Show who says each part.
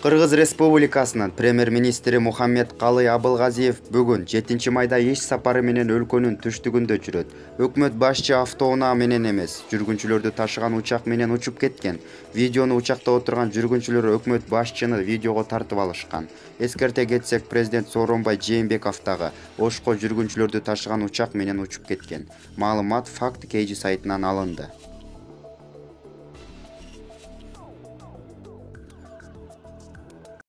Speaker 1: Кыргыз Республикасынын премьер-министри Мухаммедкалый Абылгазиев бүгүн 7 майда иш сапары менен өлкөнүн түштүгүндө жүрөт. Өкмөт башчы автоунаа менен эмес, жүргүнчүлөрдү ташыган учак менен учуп кеткен. Видеону учакта отурган жүргүнчүлөр өкмөт башчыны видеого тартып алышкан. Эскерте кетсек, президент Сооронбай Жээнбеков дагы Ошко жүргүнчүлөрдү ташыган учак менен учуп кеткен. Маалымат Факт KG сайтынан алынды.